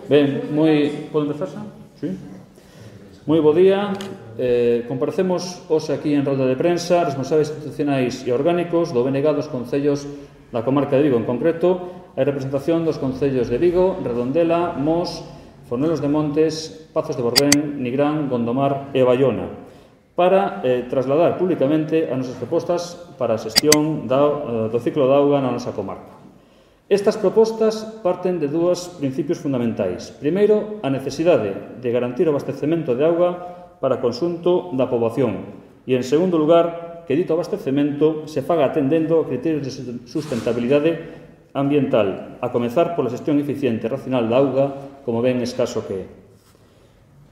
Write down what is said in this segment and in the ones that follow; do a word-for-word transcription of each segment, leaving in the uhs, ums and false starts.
Ben, moi... Podo empezar xa? Sí. Moi bo día. Eh, comparecemos hoxe aquí en rolda de prensa responsables institucionais e orgánicos do B N G dos concellos da comarca de Vigo, en concreto a representación dos concellos de Vigo, Redondela, Mos, Fornelos de Montes, Pazos de Borbén, Nigrán, Gondomar e Baiona, para eh, trasladar públicamente as nosas propostas para a xestión da, do ciclo de auga na nosa comarca. Estas propostas parten de dúas principios fundamentais. Primeiro, a necesidade de garantir o abastecemento de auga para consunto da poboación e, en segundo lugar, que dito abastecemento se faga atendendo a criterios de sustentabilidade ambiental, a comezar pola xestión eficiente e racional da auga, como ben escaso que é.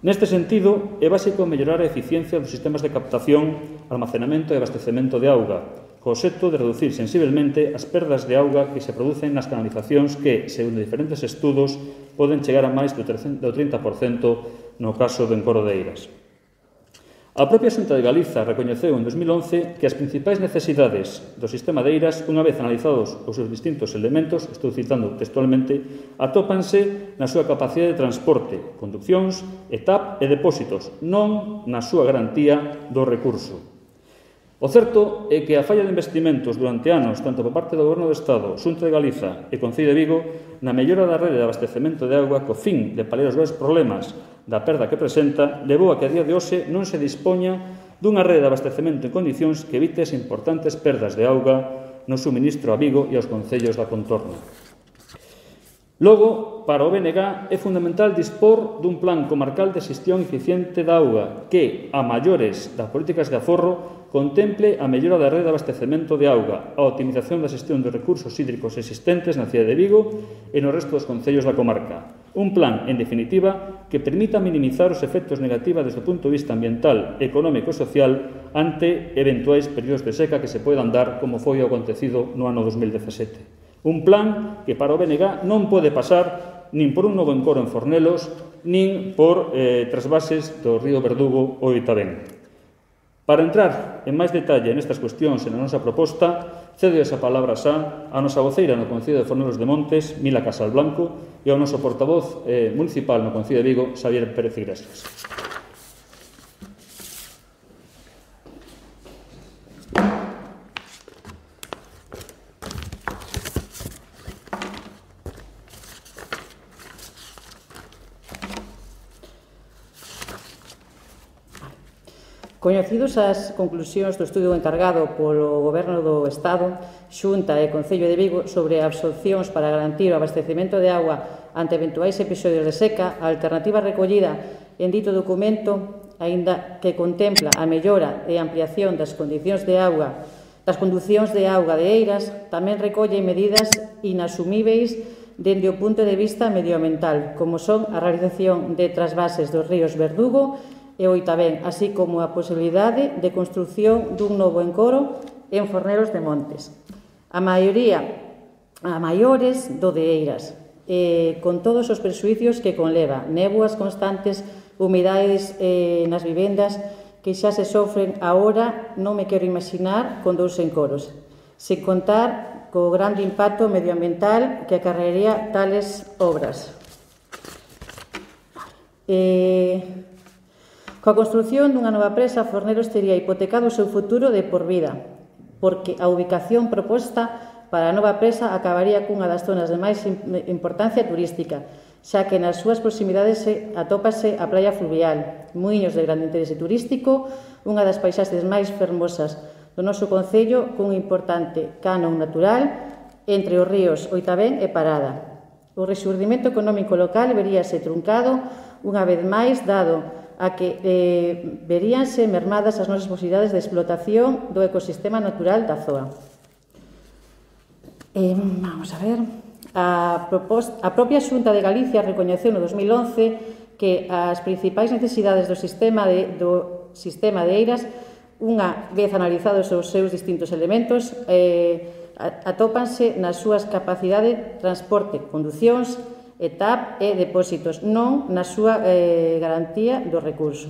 Neste sentido, é básico mellorar a eficiencia dos sistemas de captación, almacenamento e abastecemento de auga, co obxecto de reducir sensiblemente as perdas de auga que se producen nas canalizacións que, segundo diferentes estudos, poden chegar a máis do trinta por cento no caso do encoro de Eiras. A propia Xunta de Galiza recoñeceu en dos mil once que as principais necesidades do sistema de Eiras, unha vez analizados os seus distintos elementos, estou citando textualmente, atópanse na súa capacidade de transporte, conduccións, E T A P e depósitos, non na súa garantía do recurso. O certo é que a falla de investimentos durante anos, tanto por parte do Goberno do Estado, Xunta de Galiza e Concello de Vigo, na mellora da rede de abastecemento de auga co fin de paliar os graves problemas da perda que presenta, levou a que a día de hoxe non se dispoña dunha rede de abastecemento en condicións que evite as importantes perdas de auga no suministro a Vigo e aos concellos da contorna. Logo, para o B N G é fundamental dispor dun plan comarcal de xestión eficiente da auga que, a maiores das políticas de aforro, contemple a mellora da rede de abastecemento de auga, a optimización da xestión dos recursos hídricos existentes na cidade de Vigo e no resto dos concellos da comarca. Un plan, en definitiva, que permita minimizar os efectos negativos desde o punto de vista ambiental, económico e social ante eventuais períodos de seca que se poidan dar, como foi o acontecido no ano dos mil dezasete. Un plan que para o B N G non pode pasar nin por un novo encoro en Fornelos, nin por eh, trasvases do río Verdugo ou Itabén. Para entrar en máis detalle nestas cuestións e na nosa proposta, cedo esa palabra xa a nosa voceira no Concello de Fornelos de Montes, Mila Casalblanco, e ao noso portavoz eh, municipal no Concello de Vigo, Xavier Pérez Iglesias. Coñecidos as conclusións do estudio encargado polo Goberno do Estado, Xunta e Concello de Vigo sobre absorcións para garantir o abastecemento de auga ante eventuais episodios de seca, a alternativa recollida en dito documento, aínda que contempla a mellora e ampliación das condicións de auga, das conducións de auga de Eiras, tamén recolle medidas inasumíveis dende o punto de vista medioambiental, como son a realización de trasvases dos ríos Verdugo e o Itabén, así como a posibilidade de construción dun novo encoro en Fornelos de Montes. A maioría, a maiores do de Eiras, eh, con todos os presuicios que conleva, néboas constantes, humidades eh, nas vivendas que xa se sofren agora, non me quero imaginar con dous encoros, sen contar co grande impacto medioambiental que acarrearía tales obras. Eh, Coa construción dunha nova presa, Fornelos tería hipotecado o seu futuro de por vida, porque a ubicación proposta para a nova presa acabaría cunha das zonas de máis importancia turística, xa que nas súas proximidades atópase a praia fluvial, muiños de grande interese turístico, unha das paisaxes máis fermosas do noso concello, cun importante canon natural entre os ríos Oitabén e Parada. O rexurdimento económico local veríase truncado unha vez máis, dado a que eh, veríanse mermadas as nosas posibilidades de explotación do ecosistema natural da zoa. Eh, vamos a ver. A, proposta, a propia Xunta de Galicia recoñeceu no dos mil once que as principais necesidades do sistema de, do sistema de Eiras, unha vez analizados os seus distintos elementos, eh, atópanse nas súas capacidades de transporte, conducións, E T A P e depósitos, non na súa eh, garantía do recurso.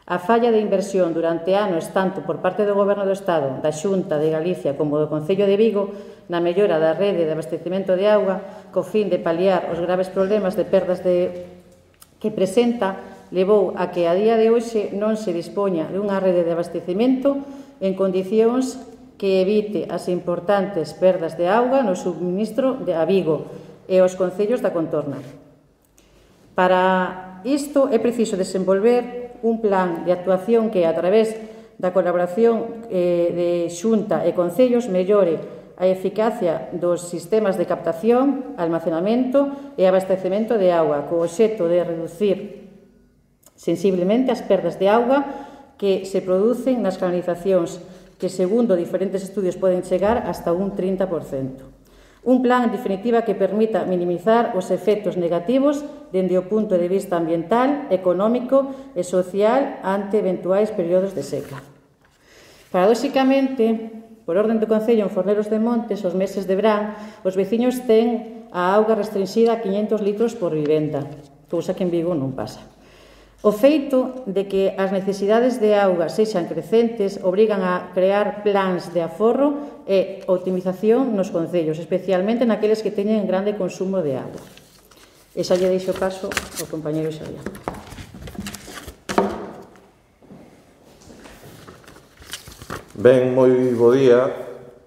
A falla de inversión durante anos tanto por parte do Goberno do Estado, da Xunta de Galicia como do Concello de Vigo na mellora da rede de abastecemento de auga co fin de paliar os graves problemas de perdas de que presenta levou a que a día de hoxe non se dispoña dunha rede de abastecemento en condicións que evite as importantes perdas de auga no subministro de a Vigo e aos concellos da contorna. Para isto é preciso desenvolver un plan de actuación que, a través da colaboración eh, de Xunta e Concellos, mellore a eficacia dos sistemas de captación, almacenamento e abastecemento de auga, co obxecto de reducir sensiblemente as perdas de auga que se producen nas canalizacións, que, segundo diferentes estudios, poden chegar hasta un trinta por cento. Un plan, en definitiva, que permita minimizar os efectos negativos dende o punto de vista ambiental, económico e social ante eventuais períodos de seca. Paradóxicamente, por orden do Concello en Fornelos de Montes, os meses de verán, os veciños ten a auga restringida a quinhentos litros por vivenda, cousa que en Vigo non pasa. O feito de que as necesidades de auga sexan crecentes obrigan a crear plans de aforro e optimización nos concellos, especialmente naqueles que teñen grande consumo de auga. E xa lle deixo paso ao compañeiro Xavier. Ben, moi bo día.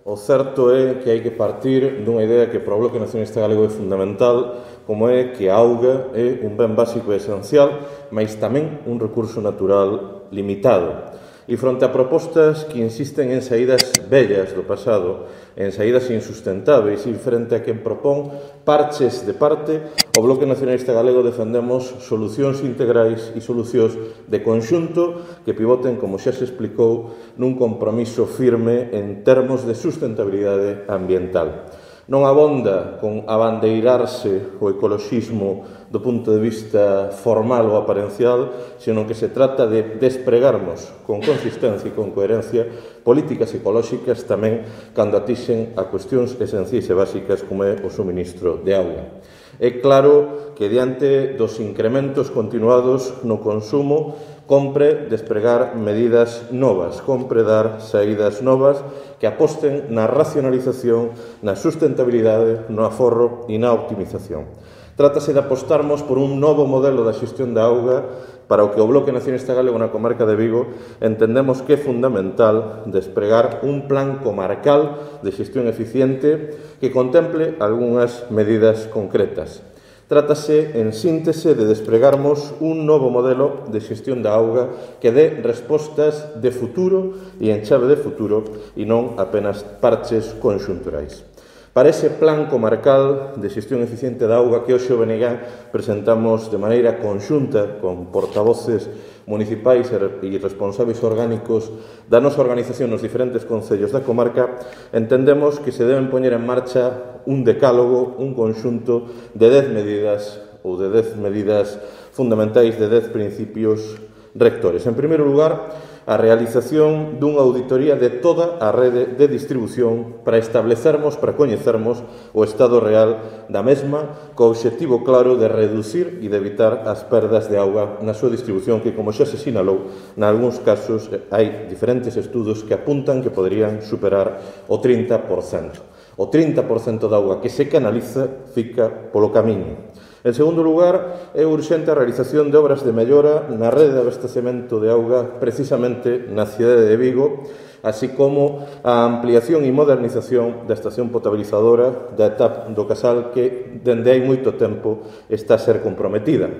O certo é que hai que partir dunha idea que para o Bloque Nacionalista Galego é fundamental, como é que a auga é un ben básico e esencial, mas tamén un recurso natural limitado. E fronte a propostas que insisten en saídas vellas do pasado, en saídas insustentáveis, e frente a quen propón parches de parte, o Bloque Nacionalista Galego defendemos solucións integrais e solucións de conxunto que pivoten, como xa se explicou, nun compromiso firme en termos de sustentabilidade ambiental. Non abonda con abandeirarse o ecoloxismo do punto de vista formal ou aparencial, senón que se trata de despregarmos con consistencia e con coherencia políticas ecolóxicas tamén cando atixen a cuestións esenciais e básicas como é o suministro de auga. É claro que diante dos incrementos continuados no consumo compre despregar medidas novas, compre dar saídas novas que aposten na racionalización, na sustentabilidade, no aforro e na optimización. Trátase de apostarmos por un novo modelo da xestión da auga para o que o Bloque Nacionalista Galego na comarca de Vigo entendemos que é fundamental despregar un plan comarcal de xestión eficiente que contemple algunhas medidas concretas. Trátase, en síntese, de despregarmos un novo modelo de xestión da auga que dé respostas de futuro e en chave de futuro e non apenas parches conxunturais. Para ese plan comarcal de xestión eficiente da auga que hoxe o B N G presentamos de maneira conxunta con portavoces municipais e responsables orgánicos da nosa organización nos diferentes concellos da comarca, entendemos que se deben poñer en marcha un decálogo, un conxunto de dez medidas ou de dez medidas fundamentais, de dez principios rectores. En primeiro lugar, a realización dunha auditoría de toda a rede de distribución para establecermos, para coñecermos o estado real da mesma, co obxectivo claro de reducir e de evitar as perdas de auga na súa distribución, que, como xa se sinalou, nalgúns casos hai diferentes estudos que apuntan que poderían superar o trinta por cento. O trinta por cento da auga que se canaliza fica polo camiño. En segundo lugar, é urxente a realización de obras de mellora na rede de abastecemento de auga precisamente na cidade de Vigo, así como a ampliación e modernización da estación potabilizadora da E T A P do Casal, que dende hai moito tempo está a ser comprometida.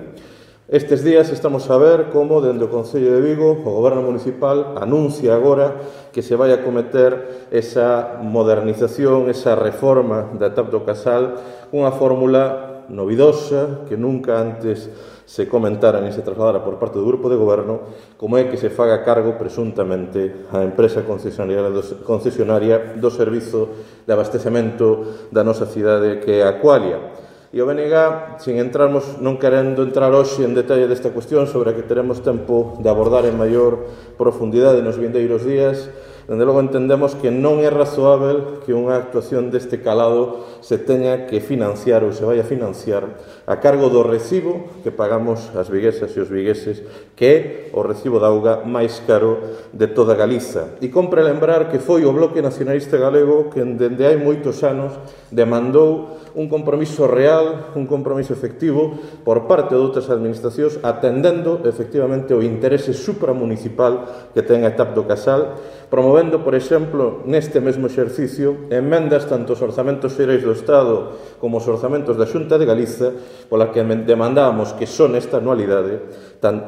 Estes días estamos a ver como, dende o Concello de Vigo, o Goberno Municipal anuncia agora que se vai a cometer esa modernización, esa reforma da E T A P do Casal, unha fórmula novidosa que nunca antes se comentara ni se trasladara por parte do Grupo de Goberno, como é que se faga cargo presuntamente a empresa concesionaria do, concesionaria do servizo de abastecemento da nosa cidade, que é a Aqualia. E o B N G, sin entrarmos, non querendo entrar hoxe en detalle desta cuestión sobre a que teremos tempo de abordar en maior profundidade nos vindeiros días, Dende logo entendemos que non é razoável que unha actuación deste calado se teña que financiar ou se vai a financiar a cargo do recibo que pagamos as viguesas e os vigueses, que é o recibo de auga máis caro de toda Galiza. E compre lembrar que foi o Bloque Nacionalista Galego que dende hai moitos anos demandou un compromiso real, un compromiso efectivo por parte de outras administracións atendendo efectivamente o interese supramunicipal que ten a etapa do Casal, promovendo, por exemplo, neste mesmo exercicio, emendas tanto aos orzamentos xerais do Estado como aos orzamentos da Xunta de Galiza, pola que demandábamos que son esta anualidade,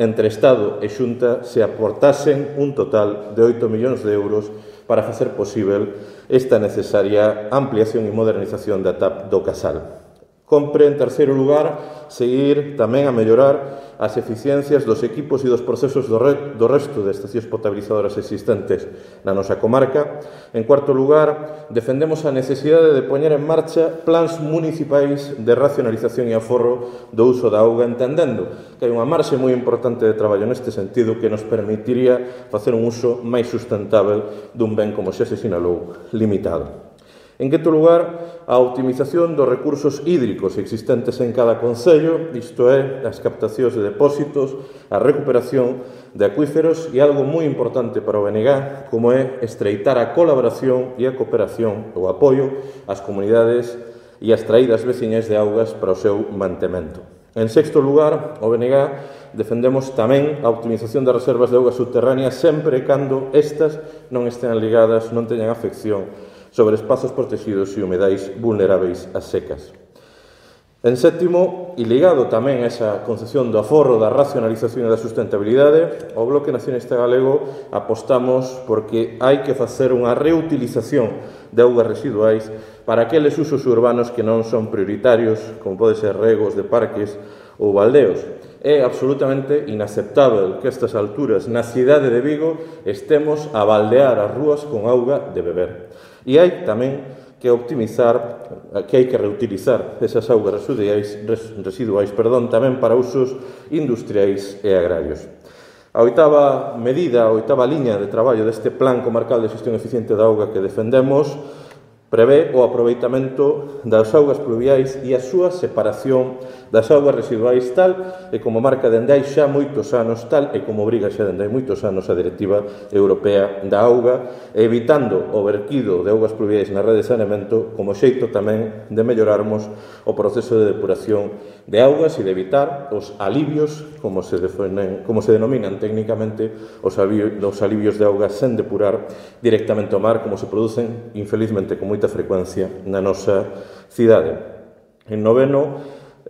entre Estado e Xunta, se aportasen un total de oito millóns de euros para facer posible esta necesaria ampliación e modernización da T A P do Casal. Compre, en terceiro lugar, seguir tamén a mellorar as eficiencias dos equipos e dos procesos do, re, do resto de estacións potabilizadoras existentes na nosa comarca. En cuarto lugar, defendemos a necesidade de poñer en marcha plans municipais de racionalización e aforro do uso da auga, entendendo que hai unha marxe moi importante de traballo neste sentido que nos permitiría facer un uso máis sustentável dun ben, como xa se sinalou, limitado. En quinto lugar, a optimización dos recursos hídricos existentes en cada concello, isto é, as captacións de depósitos, a recuperación de acuíferos e algo moi importante para o B N G, como é estreitar a colaboración e a cooperación, o apoio ás comunidades e as traídas veciñas de augas para o seu mantemento. En sexto lugar, o B N G defendemos tamén a optimización das reservas de augas subterráneas sempre cando estas non estean ligadas, non teñan afección sobre espazos protegidos e humedais vulneráveis ás secas. En sétimo, e ligado tamén a esa concepción do aforro, da racionalización e da sustentabilidade, o Bloque Nacionalista Galego apostamos porque hai que facer unha reutilización de augas residuais para aqueles usos urbanos que non son prioritarios, como pode ser regos de parques ou baldeos. É absolutamente inaceptável que a estas alturas na cidade de Vigo estemos a baldear as rúas con auga de beber. E hai tamén que optimizar, que hai que reutilizar esas augas residuais, residuais perdón, tamén para usos industriais e agrarios. A oitava medida, a oitava liña de traballo deste Plan Comarcal de Xestión Eficiente da Auga que defendemos prevé o aproveitamento das augas pluviais e a súa separación das augas residuais, tal e como marca dende hai xa moitos anos, tal e como obriga xa dende hai moitos anos a Directiva Europea da Auga, evitando o verquido de augas pluviais na rede de saneamento como xeito tamén de mellorarmos o proceso de depuración de augas e de evitar os alivios, como se, definen, como se denominan técnicamente, os alivios, os alivios de augas sen depurar directamente ao mar, como se producen, infelizmente, con moita frecuencia na nosa cidade. En noveno,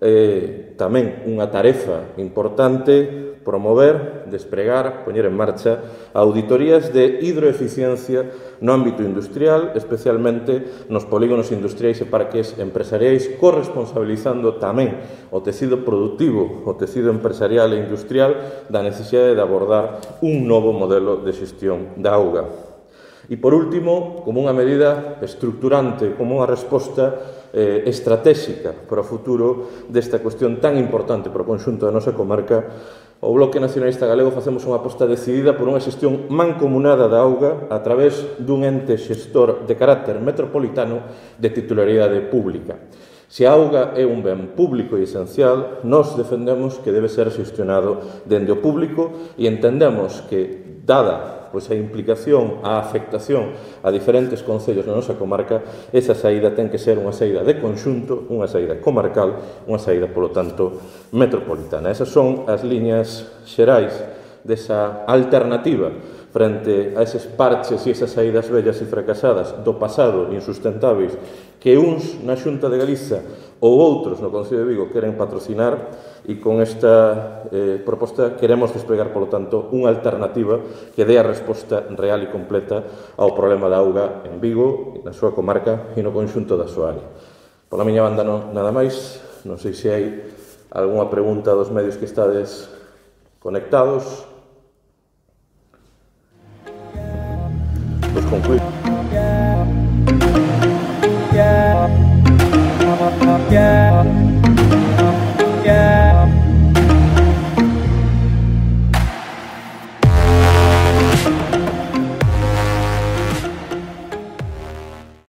eh, tamén unha tarefa importante, promover, despregar, poñer en marcha auditorías de hidroeficiencia no ámbito industrial, especialmente nos polígonos industriais e parques empresariais, corresponsabilizando tamén o tecido productivo, o tecido empresarial e industrial da necesidade de abordar un novo modelo de xestión da auga. E, por último, como unha medida estructurante, como unha resposta eh, estratégica para o futuro desta cuestión tan importante para o conxunto da nosa comarca, o Bloque Nacionalista Galego facemos unha aposta decidida por unha xestión mancomunada da auga a través dun ente xestor de carácter metropolitano de titularidade pública. Se a auga é un ben público e esencial, nós defendemos que debe ser xestionado dende o público e entendemos que, dada pois a implicación, a afectación a diferentes concellos na nosa comarca, esa saída ten que ser unha saída de conxunto, unha saída comarcal, unha saída, polo tanto, metropolitana. Esas son as liñas xerais desa alternativa frente a eses parches e esas saídas vellas e fracasadas do pasado insustentáveis que uns na Xunta de Galiza ou outros no Concello de Vigo queren patrocinar, e con esta eh, proposta queremos desplegar, polo tanto, unha alternativa que dé a resposta real e completa ao problema da auga en Vigo, na súa comarca e no conxunto da súa área. Pola miña banda non, nada máis, non sei se hai algunha pregunta dos medios que estades conectados. Pois concluímos.